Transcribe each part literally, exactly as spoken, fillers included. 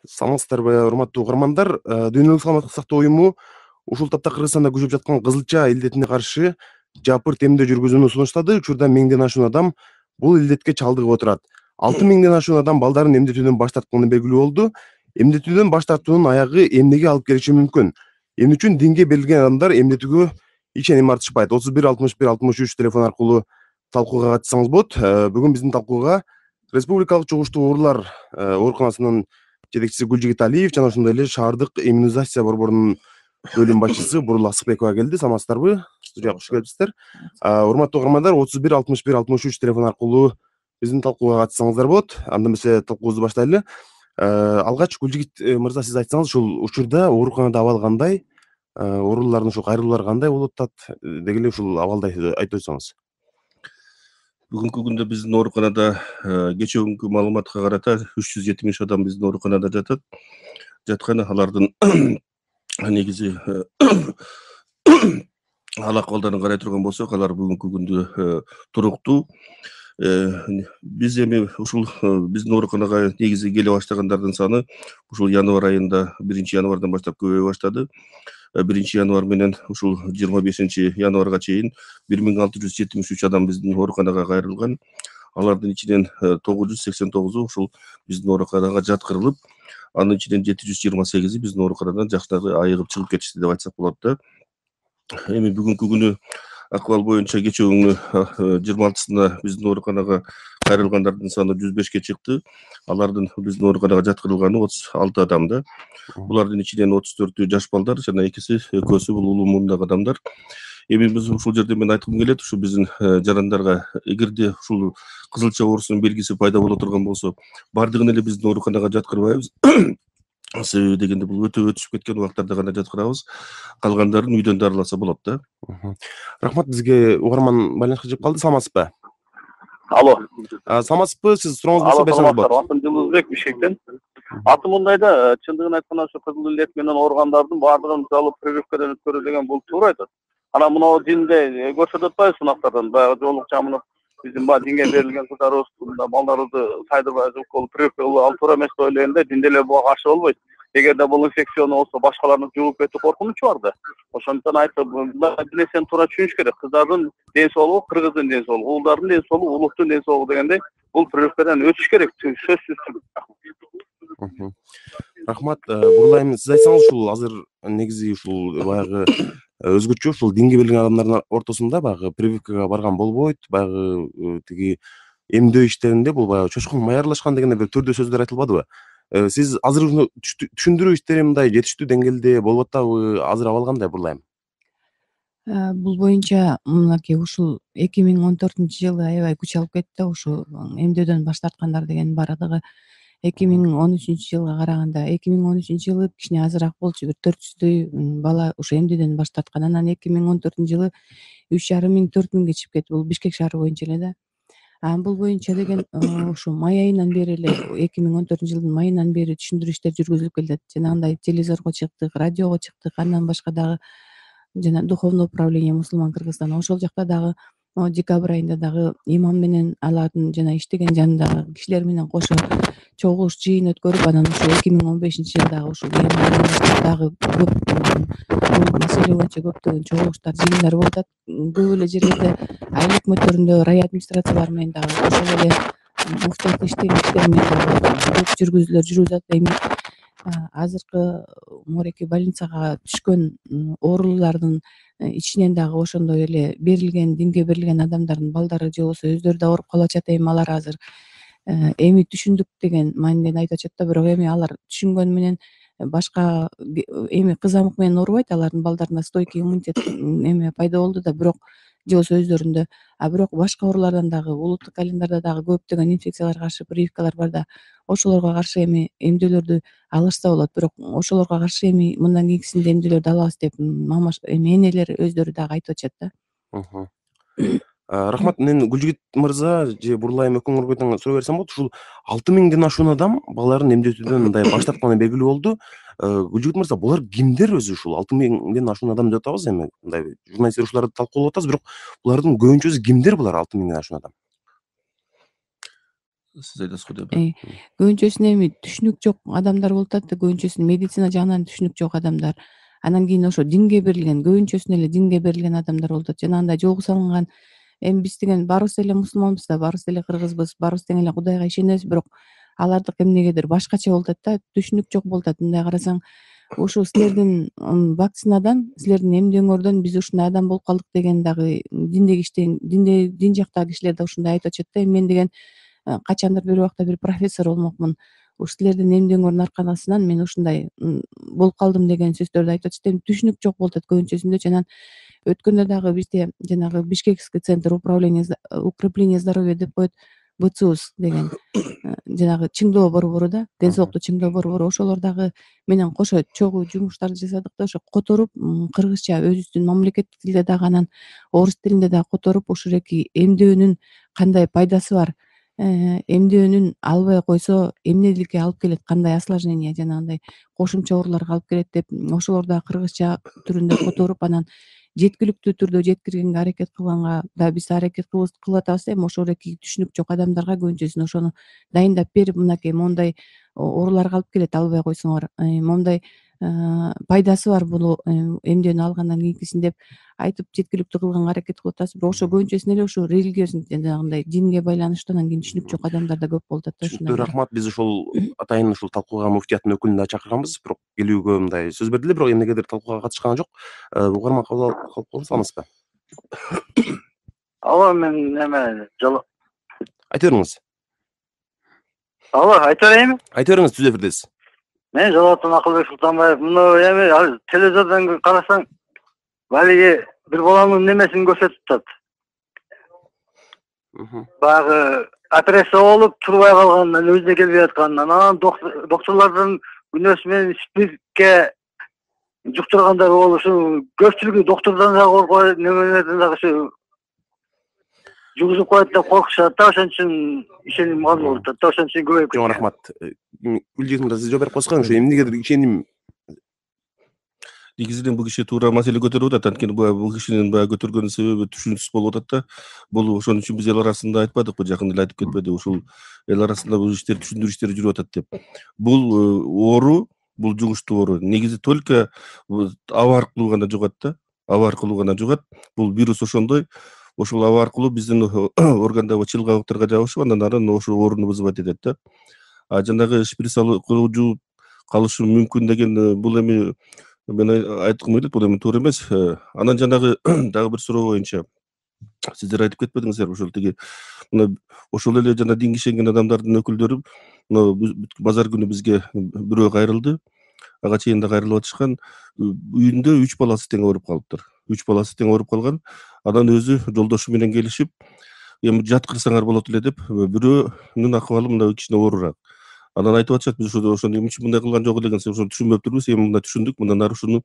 Саламатсыздарбы, урматтуу угармандар. Дүйнөлүк саламаттык сактоо уюму ушул тапта Кыргызстанда күчөп жаткан кызылча илдетине каршы жапырт эмдөө жүргүзүүнү сунуштады. Учурда миңден ашуун адам бул илдетке чалдыгып отурат. алты миңден ашуун адам балдарын эмдетүүдөн баш тартканы белгилүү болду. Эмдетүүдөн баш тартуунун аягы эмнеге алып келиши мүмкүн? Эмне үчүн динге берилген адамдар эмдетүүгө ишеним артышпайт? отуз бир алтымыш бир алтымыш үч телефон аркылуу талкууга катышсаңыз болот. Бүгүн биздин талкууга Республикалык чогуштуу оорулар ооруканасынын жетекчиси Гүлжигит Алиев жана ошондой эле шаардык иммунизация борборунун бөлүм башчысы Бурул Асыкбекова келди. Саламатсыздарбы? Студияга куш келипсиздер. Урматтуу угармандар, отуз бир алтымыш бир алтымыш үч телефон аркылуу биздин талкууга катышсаңыздар болот. Анда эмесе талкуубузду баштайлы. Алгач Гүлжигит мырза, сиз айтсаңыз, ушул учурда ооруканада абал кандай? Оорулардын ушул кайрылуулары кандай болуп атат? Деги эле ушул абалды айтып өтсөңүз. Бүгүнкү күндө биздин ооруканада кечээ күнгү маалыматка карата үч жүз жетимиш адам биздин ооруканада жатат. Жаткан алардын негизи ал акыбалдарын карай турган болсок, алар бүгүнкү күндө туруктуу. Биз эми ушул биздин ооруканага негизи келе баштагандардын саны ушул январь айында биринчи январдан баштап көбөйө баштады. биринчи январь менен ушул жыйырма бешинчи январга чейин бир миң алты жүз жетимиш үч адам биздин ооруканага кайрылган. Алардын ичинен тогуз жүз сексен тогузу ушул биздин ооруканага жаткырылып, анын ичинен жети жүз жыйырма сегизи биздин ооруканадан жакшыраак айыгып чыгып кетишти деп айтсак болот да. Эми бүгүнкү күнү акыбал боюнча кечээ күнү жыйырма алтысында биздин ооруканага кайрылгандардын саны жүз бешке чыкты. Алардын биздин ооруканага жаткырылганы отуз алты адам да. Булардын ичинен отуз төртү жаш балдар жана экиси экөөсү бул улуу мундагы адамдар. Эми биз ушул жерде мен айткым келет, ушу биздин жарандарга, эгерде ушул кызылча оорусунун белгиси пайда боло турган болсо, бардыгын эле биздин ооруканага жаткырбайбыз. Себеби дегенде бул өтө өтүшүп кеткен убактарда гана жаткырабыз. Калгандарын үйдөн дарыласа болот да. Рахмат, бизге угарман байланышка чыгып калды. Саламатсызбы? Алло. Саламатсызбы? Сиз сурооңузду болсо берсеңиз болот. Атым Жылызбек, Бишкектен. Атым мындайда, чындыгын айтканда ошо кызыл илет менен ооругандардын баардыгын алып прививкадан өткөрүү деген бул туура айтат. Анан мына динде көрсөтүп атпайбы сунактардан, баягы жоолук жамынып биздин баягы динге берилген кыздарыбыз, балдарыбызды сайдырбай жукколуп прививка кылып ал туура эмес деп ойлойм да. Динде эле буга каршы болбойт. Эгерде бул инфекциону болсо башкаларны жугуп кетүү коркунучу бар да. Ошондуктан айтып, нерсени туура түшүнүш керек. Кыздардын ден соолугу кыргыздын ден соолугу, уулдардын ден соолугу улуттун ден соолугу дегендей бул прививкадан өтүш керек, сөзсүз. Рахмат. Бурул айым, сиз айтсаңыз, ушул азыр негизи ушул баягы өзгөчө ушул динге берилген адамдардын ортосунда баягы прививкага барган болбойт, баягы тиги эмдөө иштеринде бул баягы чочкун май аралашкан деген бир түрдүү сөздөр айтылбадыбы? Сиз азыр түшүндүрүү иштери мындай жетиштүү деңгээлде болуп атабы? Азыр абал кандай, Бурул айым? Бул боюнча мынакей ушул эки миң он төртүнчү жылы аябай күч алып кетти да, ушул эмдөөдөн баш тарткандар деген баардыгы эки миң он үчүнчү жылга караганда. эки миң он үчүнчү жылы кичине азыраак болчу, бир төрт жүздөй бала ушу эмдөөдөн баш тарткан. Анан эки миң он төртүнчү жылы үч жарым миң төрт миңге чыгып кетти. Бул Бишкек шаары боюнча эле да. Анан бул боюнча деген ушу май айынан бери эле, эки миң он төртүнчү жылдын майынан бери түшүндүрүү иштери жүргүзүлүп келет. Жанагындай телевизорго чыктык, радиого чыктык, андан башка дагы жана духовное управление мусулман Кыргызстан, ошол жакта дагы декабрь айында дагы имам менен алардын жана иштеген жанындагы кишилер менен кошо чогулуш жыйын өткөрүп, анан ушул эки миң он бешинчи жылдагы ушул дагы көп бул маселе боюнча көптөгөн чогулуштар, жыйындар болуп атат. Көп эле жерлерде айыл өкмөттөрүндө район администрациялары менен дагы ошол эле муфтияттын иштери менен дагы көп жүргүзүүлөр жүрүп атат. Эми азыркы мореки больницага түшкөн оорулуулардын ичинен дагы ошондой эле берилген, динге берилген адамдардын балдары же болбосо өздөрү да ооруп калып атышат. Эми алар азыр эми түшүндүк деген мааниден айтып атышат да, бирок эми алар түшүнгөнү менен башка эми кызамык менен оорубайт, алардын балдарында стойкий иммунитет эме пайда болду да, бирок же болбосо өздөрүндө. А бирок башка оорулардан дагы улуттук календарда дагы көптөгөн инфекцияларга каршы прививкалар бар да, ошолорго каршы эми эмдөөлөрдү алышса болот. Бирок ошолорго каршы эми мындан кийинкисинде эмдөөлөрдү алабыз деп мамаш эми энелер өздөрү дагы айтып атышат да. Рахмат. Мен Гүлжигит мырза же Бурул айым экөөңөргө тең суроо берсем болот. Ушул алты миңден ашуун адам балдарын эмдетүүдөн мындай баш тартканы белгилүү болду. Гүлжигит мырза, булар кимдер өзү? Ушул алты миңден ашуун адам деп атабыз, эми мындай журналисттер ушуларды талкуулап атабыз, бирок булардын көбүнчөсү кимдер, булар алты миңден ашуун адам? Сиз айтасыз го деп. Көбүнчөсүнө эми түшүнүк жок адамдар болуп атат да, көбүнчөсүнө медицина жагынан түшүнүк жок адамдар. Анан кийин ошо динге берилген, көбүнчөсүнө эле динге берилген адамдар болуп атат. Жанагындай жолго салынган, эми биз деген баарыбыз эле мусулманбыз да, баарыбыз эле кыргызбыз, баарыбыз тең эле Кудайга ишенебиз, бирок алардык эмнегедир башкача болуп атат да, түшүнүк жок болуп атат. Мындай карасаң, ушу силердин вакцинадан, силердин эмдөөңөрдөн биз ушундай адам болуп калдык деген дагы диндеги иштеген, динде дин жактагы кишилер да ушундай айтып атышат да. Эми мен деген качандыр бир убакта бир профессор болмокмун. Ушу силердин эмдөөңөрдүн аркасынан мен ушундай болуп калдым деген сөздөрдү айтып атышат. Эми түшүнүк жок болуп атат көбүнчөсүндө. Анан өткөндө дагы бизде жанагы Бишкекский центр управления укрепления здоровья деп коет, ВЦУС деген жанагы чыңдоо борбору да, ден соолукту чыңдоо борбору, ошолор дагы менен кошо чогуу жумуштарды жасадык да, ошо которуп кыргызча өзүбүздүн мамлекеттик тилде дагы, анан орус тилинде дагы которуп ушуреки эмдөөнүн кандай пайдасы бар, эмдөөнүн албай койсо эмнеликке алып келет, кандай осложнение, жанагындай кошумча ооруларга алып келет деп ошолорду дагы кыргызча түрүндө которуп, анан жеткиликтүү түрдө жеткиргенге аракет кылганга да биз аракет кылып атабыз. Эми ошореки түшүнүк жок адамдарга көбүнчөсүнө ошону дайындап берип, мынакей моундай ооруларга алып келет албай койсоңор, моундай пайдасы бар бул эмдөөнү алгандан кийинкисин деп айтып жеткиликтүү кылганга аракет кылып атабыз. Бирок ошо көбүнчөсүнө эле ушу религиозный, жанагындай динге байланыштуу, анан кийин түшүнүк жок адамдар да көп болуп атат да. Түшүнүктүү, рахмат. Биз ушул атайын ушул талкууга муфтияттын өкүлүн да чакырганбыз, бирок келүүгө мындай сөз берди эле, бирок эмнегедир талкууга катышкан жок. Угарман кабыл алып саламызбы? Алло, мен эме жолу айта бериңиз. Алло, айта берейинби? Айта бериңиз, түз эфирдесиз. Мен Жалалаттын Акылбек Султанбаев. Муну эми телевизордон карасаң, балиги бир баланын немесин көрсөтүп атат. Баягы операция болуп турбай калганынан, өзүнө келбей атканынан, анан докторлордун күнөөсү менен спиртке жуктургандар болушу, көпчүлүгү доктордон дагы коркпойт, немелерден дагы ушу жугузуп коет деп коркушат да, ошон үчүн ишеним аз болуп атат да, ошон үчүн көбөйүп кетти. Жок, рахмат. Гүлжиген мырза, сиз жооп берип коесузго, ошо эмнегедир ишеним негизинен бул киши туура маселе көтөрүп атат. Анткени бул кишинин баягы көтөргөн себеби түшүнүксүз болуп атат да. Бул ошон үчүн биз эл арасында айтпадыкпы, жакында эле айтып кетпеди, ушул эл арасында бул иштер түшүндүрүү иштери жүрүп атат деп. Бул оору, бул жугуштуу оору негизи только аба аркылуу гана жугат да, аба аркылуу гана жугат. Бул вирус ошондой, ошол аба аркылуу биздин органдагы чылгабыктарга жабышып, андан ары ошол ооруну вызывать этет да. А жанагы шприц алуу жууп калышы мүмкүн деген бул эми мен айткым келет, бул эми туура эмес. Анан жанагы дагы бир суроо боюнча сиздер айтып кетпедиңиздерби, ошол тиги мына ошол эле жана динге ишенген адамдардын өкүлдөрү мына базар күнү бизге бирөө кайрылды, ага чейин да кайрылып атышкан, үйүндө үч баласы тең ооруп калыптыр. Үч баласы тең ооруп калган. Анан өзү жолдошу менен келишип, эми жаткырсаңар болот эле деп, бирөөнүн акыбалы мына кичине оорураак. Анан айтып атышат, биз ошо ошону эмне үчүн мындай кылган жок эле ошону түшүнбөп турбуз, эми мында түшүндүк, мындан ары ушуну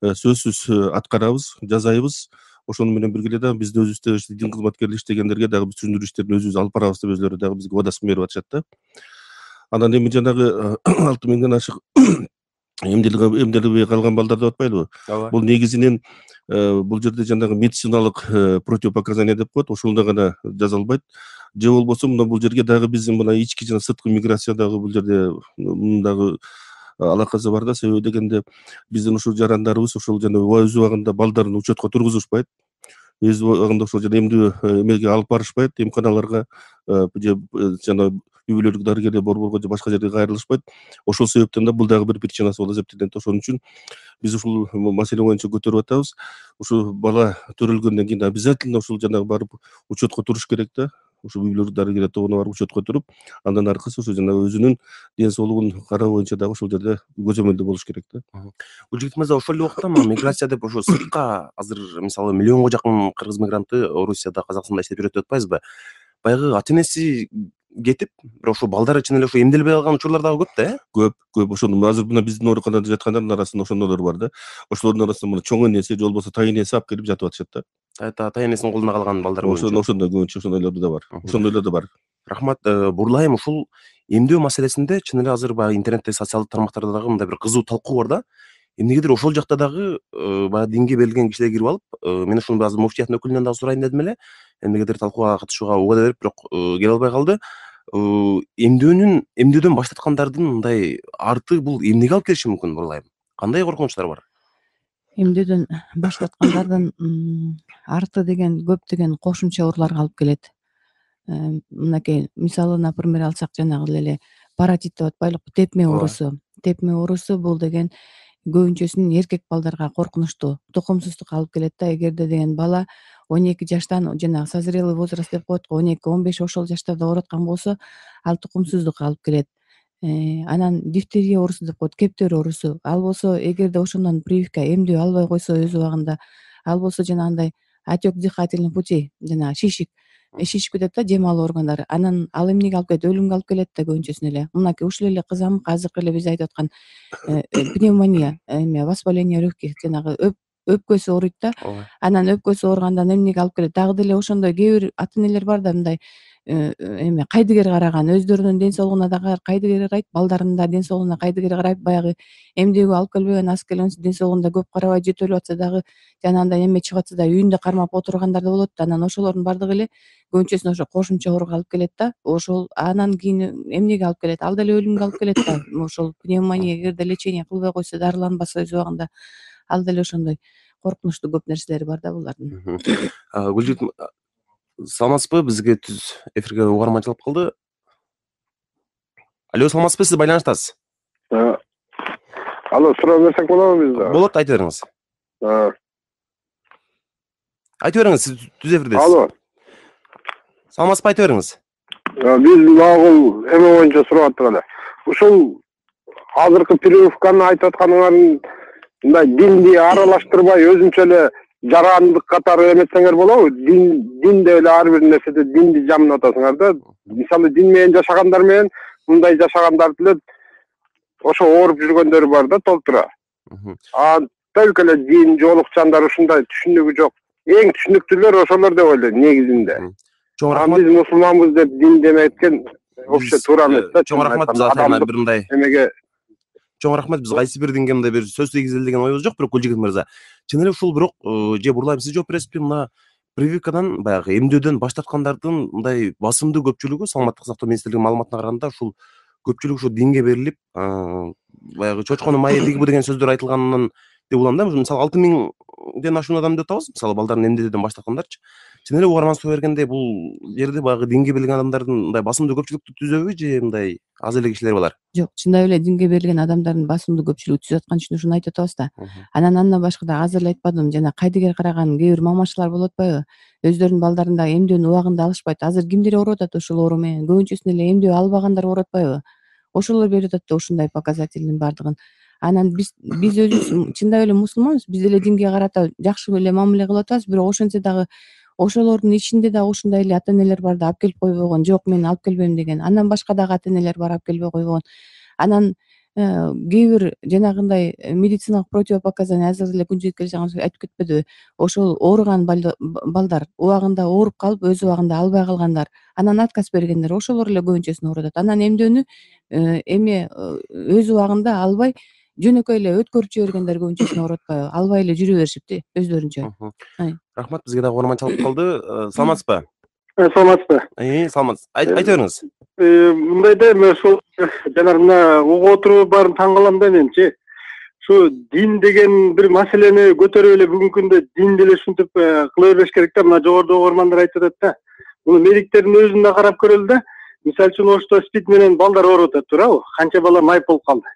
сөзсүз аткарабыз, жазайбыз. Ошону менен бирге эле дагы бизди өзүбүздө дин кызматкерлери иштегендерге дагы биз түшүндүрүү иштерин өзүбүз алып барабыз деп өзүлөрү дагы бизге убадасын берип атышат да. Анан эми жанагы алты миңден ашык эмделбей калган балдар деп атпайлыбы? Бул негизинен бул жерде жанагы медициналык противопоказания деп коет, ошондо гана жазалбайт. Же болбосо мына бул жерге дагы биздин мына ички жана сырткы миграция дагы бул жерде мындагы алакасы бар да. Себеби дегенде биздин ушул жарандарыбыз ошол жана өз убагында балдарын учетко тургузушпайт. Өз убагында ошол жана эмдөө эмеге алып барышпайт, эмканаларга же жана үй бүлөлүк дарыгерлер борборго же башка жерге кайрылышпайт. Ошол себептен да бул дагы бир причинасы болуп эсептелет. Ошон үчүн биз ушул маселе боюнча көтөрүп атабыз. Ушул бала төрөлгөндөн кийин обязательно ушул жанагы барып учетко туруш керек да. Ушул үй бүлөлүк дарыгерлер тобуна барып учетко туруп, андан аркысы ошо жана өзүнүн ден соолугун кароо боюнча дагы ошол жерде көзөмөлдө болуш керек да. Гүлжигит мырза, ошол эле убакта миграция деп ошо сыртка азыр мисалы миллионго жакын кыргыз мигранты Орусияда, Казакстанда иштеп жүрөт деп атпайбызбы? Баягы ата энеси кетип, бирок ошо балдары чын эле ошо эмделбей калган учурлар дагы көп да, э? Көп, көп. Ошону азыр мына биздин ооруканада жаткандардын арасында ошондойлор бар да. Ошолордун арасында мына чоң энеси же болбосо тай энеси алып келип жатып атышат да. Ата энесинин колунда калган балдар ошондой ошондой көбүнчө ошондойлор да бар. Ошондойлор да бар. Рахмат. Бурлайым, ушул эмдөө маселесинде чын эле азыр баягы интернетте, социалдык тармактарда дагы мындай бир кызуу талкуу бар да. Эмнегедир ошол жакта дагы баягы динге берилген кишилер кирип алып, мен ушуну азыр муфтияттын өкүлүнөн дагы сурайын дедим эле. Эмнегедир талкууга катышууга убада берип, бирок келе албай калды. эмдөөнүн эмдөөдөн баш тарткандардын мындай арты бул эмнеге алып келиши мүмкүн бурулайм? Кандай коркунучтар бар? Эмдөөдөн баш тарткандардын арты деген көптөгөн кошумча ооруларга алып келет. Мынакей мисалы, например, алсак, жанагы эле паротит деп атпайлыкпы, тепме оорусу. Тепме оорусу бул деген көбүнчөсүн эркек балдарга коркунучтуу, тукумсуздукка алып келет да. Эгерде деген бала он эки жаштан, жанагы созрелый возраст деп коет го, он эки он беш ошол жаштарда ооруп аткан болсо, ал тукумсуздукка алып келет. Анан дифтерия оорусу деп коет, кептер оорусу. Ал болсо, эгерде ошондон прививка эмдөө албай койсо өз убагында, ал болсо жанагындай отек дыхательных путей, жанагы шишик шишип кетет да, жем алуу органдары. Анан ал эмнеге алып келет? Өлүмгө алып келет да көбүнчөсүн эле. Мынакей ушул эле кызамык, азыркы эле биз айтып аткан пневмония, эме воспаление легких, жанагы өпкөсү ооруйт да. Анан өпкөсү ооругандан эмнеге алып келет? Дагы деле ошондой кээ бир ата энелер бар да, мындай эме кайдыгер караган, өздөрүнүн ден соолугуна да кайдыгер карайт, балдарынын да ден соолугуна кайдыгер карайт, баягы эмдөөгө алып келбеген, аз келген ден соолугунда көп карабай жөтөлүп атса дагы, жанагындай эме чыгып атса да үйүндө кармап отургандар да болот да. Анан ошолордун бардыгы эле көбүнчөсүн ошо кошумча ооруга алып келет да. Ошол анан кийин эмнеге алып келет? Ал деле өлүмгө алып келет да. Ошол пневмония эгерде лечение кылбай койсо, дарыланбаса өз убагында, ал деле ошондой коркунучтуу көп нерселери бар да булардын. Гүлжит, саламатсызбы? Бизге түз эфирге угарманчылык кылды. Алло, саламатсызбы? Сиз байланыштасыз. Алло, суроо берсек болобу бизде? Болот, айта бериңиз. Айта бериңиз, сиз түз эфирдесиз. Алло. Саламатсызбы, айта бериңиз. Биз магул эме боюнча сурап аттык эле. Ушул азыркы прививканы айтып атканыңардын мындай динди аралаштырбай өзүнчө эле жарандык катары эметсеңер болобу? Дин динде эле ар бир нерседе динди жамынып атасыңар да. Мисалы, дин менен жашагандар менен мындай жашагандар деле ошо ооруп жүргөндөр бар да, толтура. А только эле дин жоолукчандар ушундай түшүнүгү жок. Эң түшүнүктүүлөр ошолор деп ойлойм негизинде. Чоң А рахмат. биз мусулманбыз деп дин деметкен вообще туура эмес да. Чоң рахмат, биз атайын бир мындай. Эмеге Чоң рахмат, биз кайсы бир динге мындай бир сөз тийгизели деген оюбуз жок, бирок Гүлжигит мырза. Чын эле ушул бирок же бурулайм, сиз жооп бересизби? Мына прививкадан, баягы эмдөөдөн баш тарткандардын мындай басымдуу көпчүлүгү, саламаттык сактоо министрлигинин маалыматына караганда, ушул көпчүлүк ушу динге берилип, баягы чочконун майы дигби деген сөздөр айтылганынан деп улам да. Мисалы, алты миңден ашуун адам деп атабыз, мисалы, балдарын эмдөөдөн баш тарткандарчы. Чын эле угарман суу бергенде, бул жерде баягы динге берилген адамдардын мындай басымдуу көпчүлүктү түзөбү, же мындай аз эле кишилер балар? Жок, чындап эле динге берилген адамдардын басымдуу көпчүлүгү түзүп аткан үчүн ушуну айтып атабыз да. Анан андан башка да азыр эле айтпадымбы, жана кайдыгер караган кээ бир мамачылар болуп атпайбы? Өздөрүнүн балдарын дагы эмдөөнү убагында алышпайт. Азыр кимдер ооруп атат ушул оору менен? Көбүнчөсүн эле эмдөө албагандар ооруп атпайбы? Ошолор берип атат да ушундай показательдин бардыгын. Анан биз биз өзүбүз чындап эле мусулманбыз, биз деле динге карата жакшы эле мамиле кылып атабыз, бирок ошентсе дагы ошолордун ичинде дагы ушундай эле ата энелер бар да, алып келип койбогон, жок мен алып келбейм деген. Андан башка дагы ата энелер бар, алып келбей койбогон. Анан кээ бир жанагындай медициналык противопоказания, азыр эле Күнчүгүт келжаңыз айтып кетпедиби? Ошол ооруган балдар убагында ооруп калып, өз убагында албай калгандар, анан отказ бергендер, ошолор эле көбүнчөсүн ооруп атат. Анан эмдөөнү эме өз убагында албай, жөнөкөй эле өткөрүп жибергендер көбүнчөсүн ооруп атпайбы? Албай эле жүрө беришипти өздөрүнчө. Рахмат, бизге дагы угарманчылык калды. Саламатсызбы? Саламатсызбы? Саламатсыз. Айта бериңиз. Мындай да, мен ошол жанагы мына угуп отуруп баарын таң калам да менчи. Ушу дин деген бир маселени көтөрүп эле бүгүнкү күндө дин деле ушинтип кыла бербеш керек да. Мына жогоруда угармандар айтып атат да. Муну медиктердин өзүн да карап көрөлү да. Мисалы үчүн ошто спид менен балдар ооруп атат, туурабы? Канча бала майып болуп калды.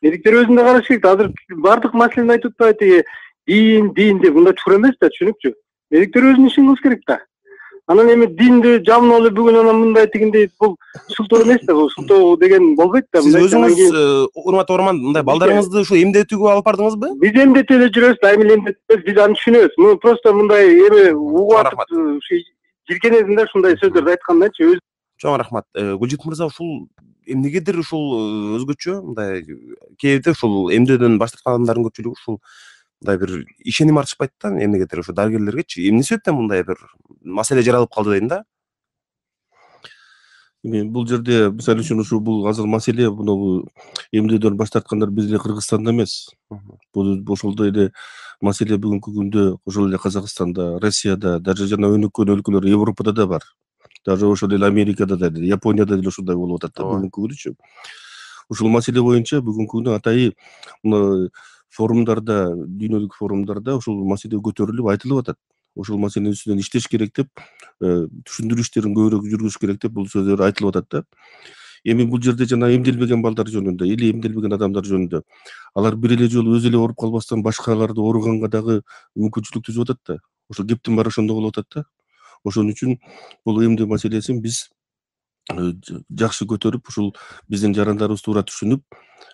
Медиктер өзүн да караш керек. Азыр бардык маселени айтып атпайбы, тиги дин, дин деп. Мындай туура эмес да, түшүнүкчү. Медиктер өзүнүн ишин кылыш керек да. Анан эми динди жамынып алып бүгүн анан мындай тигиндей, бул шылтоо эмес да, бул шылтоо деген болбойт да. Сиз өзүңүз, урматтуу угарман, мындай балдарыңызды ушу эмдетүүгө алып бардыңызбы? Биз эмдетип эле жүрөбүз да, айыл эмдетпес, биз аны түшүнөбүз. Муну просто мындай эме угуп атып, жиркенесин да ушундай сөздөрдү айткандачы өзү. Чоң рахмат. Гүлжит мырза, ушул эмнегедир ушул өзгөчө мындай кээде ушул эмдөөдөн баш тарткан адамдардын көпчүлүгү ушул мындай бир ишеним артышпайт да, эмнегедир ушу дарыгерлергечи. Эмне себептен мындай бир маселе жаралып калды дейм да? Эми бул жерде мисалы үчүн ушу бул азыр маселе муну эмдөөдөн баш тарткандар биз эле Кыргызстанда эмес. Бул ошолдой эле маселе бүгүнкү күндө ошол эле Казакстанда, Россияда, даже жана өнүккөн өлкөлөр Европада да бар. даже ошол эле Америкада да, Японияда деле ушундай болуп атат да бүгүнкү күнүчү. Ушул маселе боюнча бүгүнкү күнү атайын мына форумдарда, дүйнөлүк форумдарда ушул маселе көтөрүлүп айтылып атат. Ошол маселенин үстүнөн иштеш керек деп, түшүндүрүү иштерин көбүрөөк жүргүзүш керек деп бул сөздөр айтылып атат да. Эми бул жерде жана эмделбеген балдар жөнүндө, или эмделбеген адамдар жөнүндө алар бир эле жолу өзү эле ооруп калбастан башкаларды ооруганга дагы мүмкүнчүлүк түзүп атат да. Ошол кептин баары ошондо болуп атат да. Ошон үчүн бул эмдөө маселесин биз жакшы көтөрүп, ушул биздин жарандарыбыз туура түшүнүп,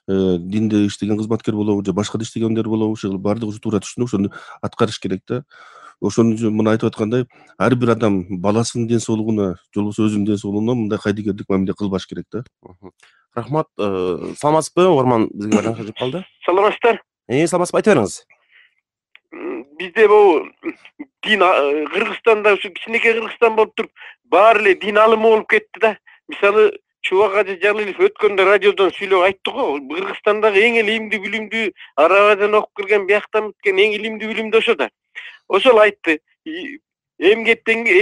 динде иштеген кызматкер болобу же башка да иштегендер болобу, ушул баардыгы ушу туура түшүнүп, ошону аткарыш керек да. Ошон үчүн муну айтып аткандай, ар бир адам баласынын ден соолугуна, же болбосо өзүнүн ден соолугуна мындай кайдыгерлик мамиле кылбаш керек да. Рахмат. Саламатсызбы? Угарман бизге байланышка чыгып калды. Саламатсыздар. Э, саламатсызбы? Айта бериңиз. Бизде бул дин Кыргызстанда ушу кичинекей Кыргызстан болуп туруп, баары эле дин алымы болуп кетти да. Мисалы Чубак Ажы Жалилов өткөндө радиодон сүйлөп айтты го, Кыргызстандагы эң эле илимдүү билимдүү Арабиядан окуп келген, бияктан бүткен эң илимдүү билимдүү ошо да. Ошол айтты. Эмгеттенге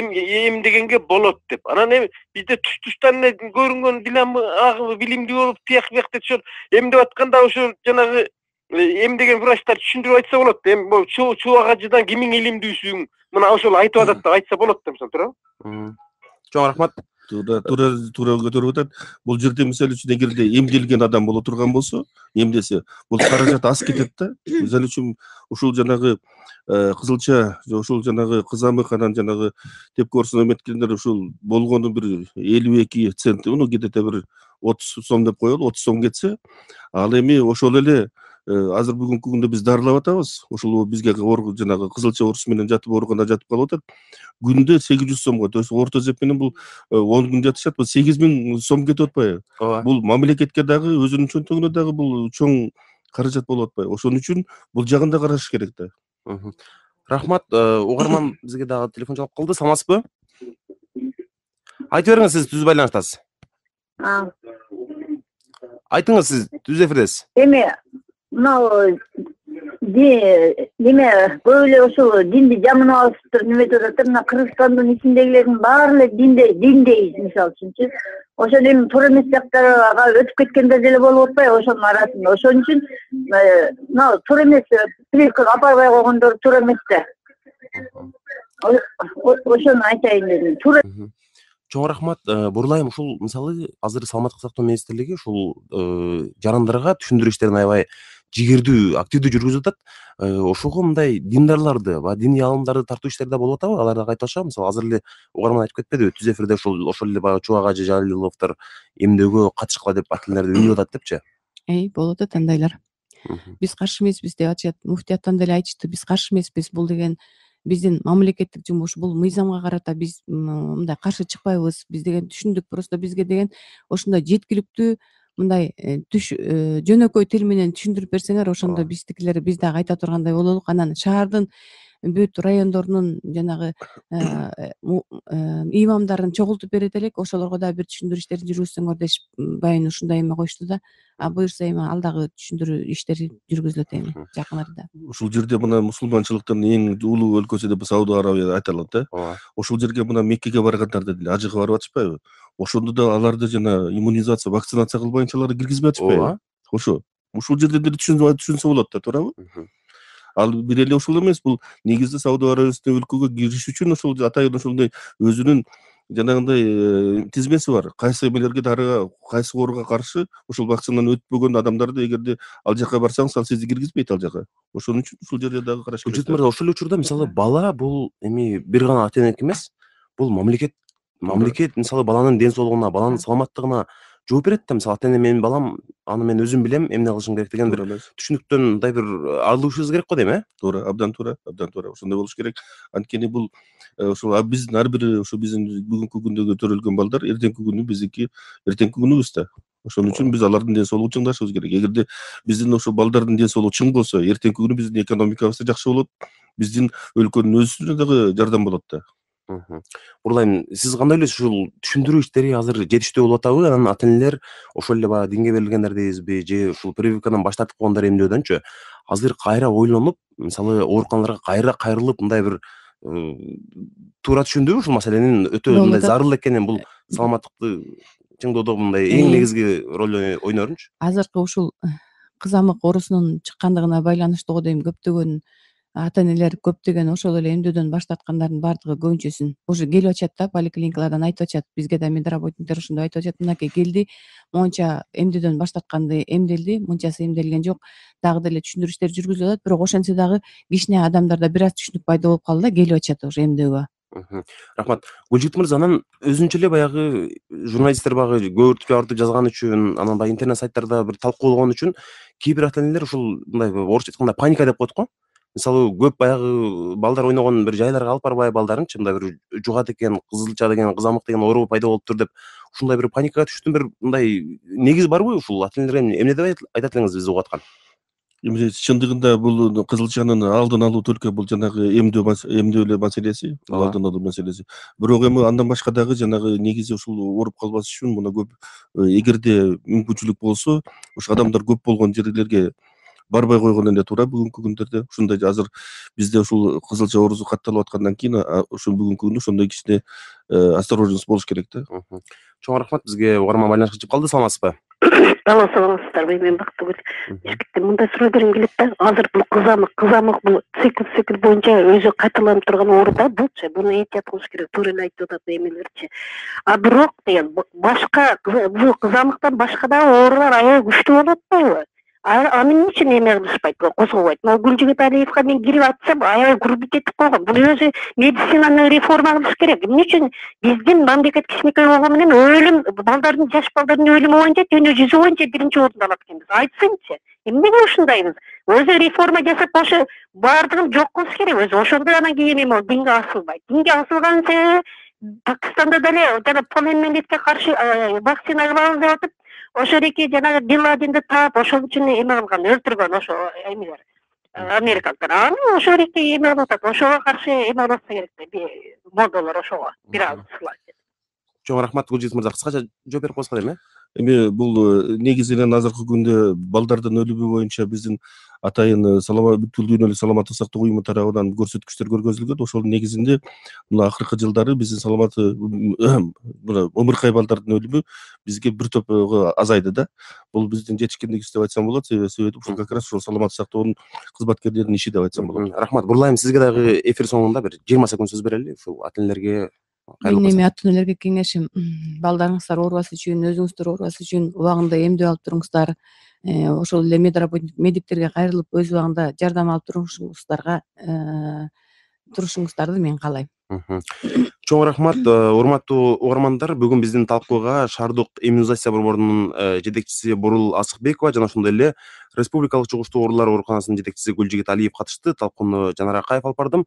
эмдегенге болот деп. Анан эми бизде туш туштан эле көрүнгөн дилам агыбы билимдүү болуп, тияк бияк деп ошол эмдеп атканда ошо жанагы эмдеген врачтар түшүндүрүп айтса болот. Эми бул Чубак Ажыдан кимиң илимдүүсүң? Мына ошол айтып атат деп айтса болот да, мисалы туурабы? Чоң рахмат. Туура туура туура көтөрүп атат. Бул жерде мисалы үчүн эгерде эмделген адам боло турган болсо, эмдесе, бул каражат аз кетет да. Мисалы үчүн ушул жанагы кызылча, ушул жанагы кызамык анан жанагы тепки оорусуна эметкендер ушул болгону бир элүү эки цент, муну где-то бир отуз сом деп коелу, отуз сом кетсе, ал эми ошол эле азыр бүгүнкү күндө биз дарылап атабыз. Ошол бизге жанагы кызылча оорусу менен жатып ооруканда жатып калып атат. Күндө сегиз жүз сомго, то есть орто эсеп менен бул он күн жатышат, бул сегиз миң сом кетип атпайбы? Бул мамлекетке дагы өзүнүн чөнтөгүнө дагы бул чоң каражат болуп атпайбы? Ошон үчүн бул жагын да караш керек да. Рахмат. Угарман бизге дагы телефон чалып калды. Саламатсызбы? Айтып бериңиз, сиз түз байланыштасыз. Айтыңыз, сиз түз эфирдесиз. Эми мынау неме көп эле ошол динди жамынап алыптыр, неметип атат. Мына Кыргызстандын ичиндегилердин баары эле динде диндейиз мисалы үчүнчү. Ошол эми туура эмес жактарга өтүп кеткендер деле болуп атпайбы ошонун арасында. Ошон үчүн мына туура эмес прививкага апарбай койгондор туура эмес да. Ошону айтайын дедим. Туура. Чоң рахмат. Бурлайым, ушул мисалы азыр Саламаттык сактоо министрлиги ушул жарандарга түшүндүрүү иштерин аябай жигердүү, активдүү жүргүзүп атат. Ошого мындай диндарларды, баягы диний аалымдарды тартуу иштери да болуп атабы? Алар дагы айтып атышабы? Мисалы азыр эле угарман айтып кетпедиби? Түз эфирде ошол ошол эле баягы Чубак Ажы Жалиловдор эмдөөгө катышкыла деп акилдерди үнүп атат депчи. Эй, болуп атат андайлар. Биз каршы эмеспиз деп атышат. Муфтияттан деле айтышты, биз каршы эмеспиз. Бул деген биздин мамлекеттик жумуш, бул мыйзамга карата биз мындай каршы чыкпайбыз. Биз деген түшүндүк, просто бизге деген ошондой жеткиликтүү мындай түш жөнөкөй тил менен түшүндүрүп берсеңер, ошондо биздикилер биз дагы айта тургандай бололук. Анан шаардын бүт райондорунун жанагы имамдарын чогултуп берет элек, ошолорго дагы бир түшүндүрүү иштерин жүргүзсөңөр дешип байын ушундай эме койушту да. А буюрса эми ал дагы түшүндүрүү иштери жүргүзүлөт эми жакын арада. Ушул жерде мына мусулманчылыктын эң улуу өлкөсү деп Сауд Арабия айтылат да. Ошол жерге мына Меккеге баргандарды деле ажыга барып атышпайбы? Ошондо да аларды жана иммунизация, вакцинация кылбайынча аларды киргизбей атышпайбы? Ошо. Ушул жерде деле түшүнсө болот да, туурабы? Ал бир эле ушул эмес, бул негизги Сауд Арабиясындай өлкөгө кириш үчүн ошол атайын ошондой өзүнүн жанагындай тизмеси бар. Кайсы эмелерге дарыга, кайсы ооруга каршы ошол вакцинаны өтпөгөн адамдарды эгерде ал жака барсаңыз, ал сизди киргизбейт ал жака. Ошон үчүн ушул жерде дагы караш керек. Жытмыр, ошол учурда мисалы бала бул эми бир гана ата энеки эмес, бул мамлекет мамлекет мисалы баланын ден соолугуна, баланын саламаттыгына жооп берет да. Мисалы ата эне менин балам, аны мен өзүм билем, эмне кылышым керек деген бир түшүнүктөн мындай бир алышыбыз керек го дейм, э? Туура, абдан туура, абдан туура. Ошондой болуш керек. Анткени бул ошол биздин ар бир ошо биздин бүгүнкү күндөгү төрөлгөн балдар эртеңки күнү биздики эртеңки күнүбүз да. Ошон үчүн биз алардын ден соолугун чыңдашыбыз керек. Эгерде биздин ошо балдардын ден соолугу чың болсо, эртеңки күнү биздин экономикабыз да жакшы болот, биздин өлкөнүн өсүшүнө дагы жардам болот да. Бурлайм, сиз кандай ойлойсуз, ушул түшүндүрүү иштери азыр жетиштүү болуп атабы? Анан ата энелер ошол эле баягы динге берилгендер дейбизби, же ушул прививкадан баш тартып койгондор эмдөөдөнчү азыр кайра ойлонуп, мисалы ооруканаларга кайра кайрылып мындай бир туура түшүндүбү ушул маселенин өтө Болуп мындай атат. зарыл экенин, бул саламаттыкты чыңдоодо мындай эң негизги роль ойнорунчу. Азыркы ушул кызамык оорусунун чыккандыгына байланыштуу го дейм, көптөгөн ата энелер көптөгөн ошол эле эмдөөдөн баш тарткандардын баардыгы көбүнчөсүн уже келип атышат да, поликлиникалардан айтып атышат, бизге да медработниктер ошондой айтып атышат, мынакей келди, монча эмдөөдөн баш тартканды эмделди, мынчасы эмделген жок, дагы деле түшүндүрүштөр жүргүзүлүп атат, бирок ошентсе дагы кичине адамдарда бир аз түшүнүк пайда болуп калды да, келип атышат уже эмдөөгө. Рахмат. Гүлжигит мырза, анан өзүнчө эле баягы журналисттер баягы көөртүп жабыртып жазган үчүн, анан баягы интернет сайттарда бир талкуулаган үчүн кээ бир ата энелер ушул мындай орусча айтканда паника деп коет го. Мисалы, көп баягы балдар ойногон бир жайларга алып барбай балдарынчы мындай бир жугат экен, кызылча деген, кызамык деген оору пайда болуптур деп ушундай бир паникага түшүштүн бир мындай негиз барбы ушул ата энелерге эмне деп айтат элеңиз бизди угуп аткан? Эми чындыгында бул кызылчанын алдын алуу только бул жанагы эмдөө эмдөө эле маселеси, алдын алуу маселеси. Бирок эми андан башка дагы жанагы негизи ушул ооруп калбаш үчүн мына көп эгерде мүмкүнчүлүк болсо, ошо адамдар көп болгон жерлерге барбай койгон эле туура бүгүнкү күндөрдө. Ушундай азыр бизде ушул кызылча оорусу катталып аткандан кийин ушул бүгүнкү күндө ошондой кичине осторожность болуш керек да. Чоң рахмат, бизге угарман байланышка чыгып калды, саламатсызбы? Алло, саламатсыздарбы? Мен Бактыгүл. Бишкектен мындай суроо бергим келет да. Азыр бул кызамык, кызамык бул цикл цикл боюнча өзү кайталанып турган оору да булчу. Буну эhtiyat кылыш керек. Туура эле айтып атат эмелерчи. А бирок деген башка бул кызамыктан башка да оорулар аябай күчтүү болуп атпайбы? Аны эмне үчүн эме кылышпайт, козгобойт? Могу Гүлжигит Алиевге мен кирип атсам, аябай курбут жетип койгон. Бул өзү медицинаны реформа кылыш керек. Эмне үчүн биздин мамлекет кичинекей болгону менен өлүм, балдардын, жаш балдардын өлүмү боюнча дүйнө жүзү боюнча биринчи орунду алат экенбиз. Айтсынчы, эмнеге ушундайбыз? Өзү реформа жасап, ошо баардыгын жок кылыш керек. Өзү ошондо анан кийин эме динге асылбайт. Динге асылган себеби Пакистанда деле жана полиомиелитке каршы вакцина кылабыз деп атып, ошол эки жанагы Бин Ладенди таап, ошол үчүн эме кылган, өлтүргөн ошо эмелер, америкалыктар. Аны ошол эки эме кылып атат, ошого каршы эме кылса керек да, модулар ошого бир аз сылайт. Чоң рахмат, Гүлжигит мырза, кыскача жооп берип койсоңуз эми. Эми бул негизинен азыркы күндө балдардын өлүмү боюнча биздин атайын саламат бүткүл дүйнөлүк саламаттык сактоо уюму тарабынан көрсөткүчтөр көргөзүлгөн. Ошол негизинде мына акыркы жылдары биздин саламатты мына ымыркай балдардын өлүмү бизге бир топго азайды да. Бул биздин жетишкендигибиз деп айтсам болот, себеби ушул как раз ушул саламаттык сактоонун кызматкерлеринин иши деп айтсам болот. Рахмат. Бурлайм, сизге дагы эфир соңунда бир жыйырма секунд сөз берели, ушул ата энелерге. Менин эми ата энелерге кеңешим, балдарыңыздар оорубас үчүн, өзүңүздөр оорубас үчүн убагында эмдөө алып туруңуздар. Ошол эле медработник медиктерге кайрылып өз убагында жардам алып турушуңуздарга турушуңуздарды мен каалайм. Чоң рахмат, урматтуу угармандар. Бүгүн биздин талкууга шаардык иммунизация борборунун жетекчиси Бурул Асыкбекова жана ошондой эле Республикалык жугуштуу оорулар ооруканасынын жетекчиси Гүлжигит Алиев катышты. Талкууну Жанар Акаев алып бардым.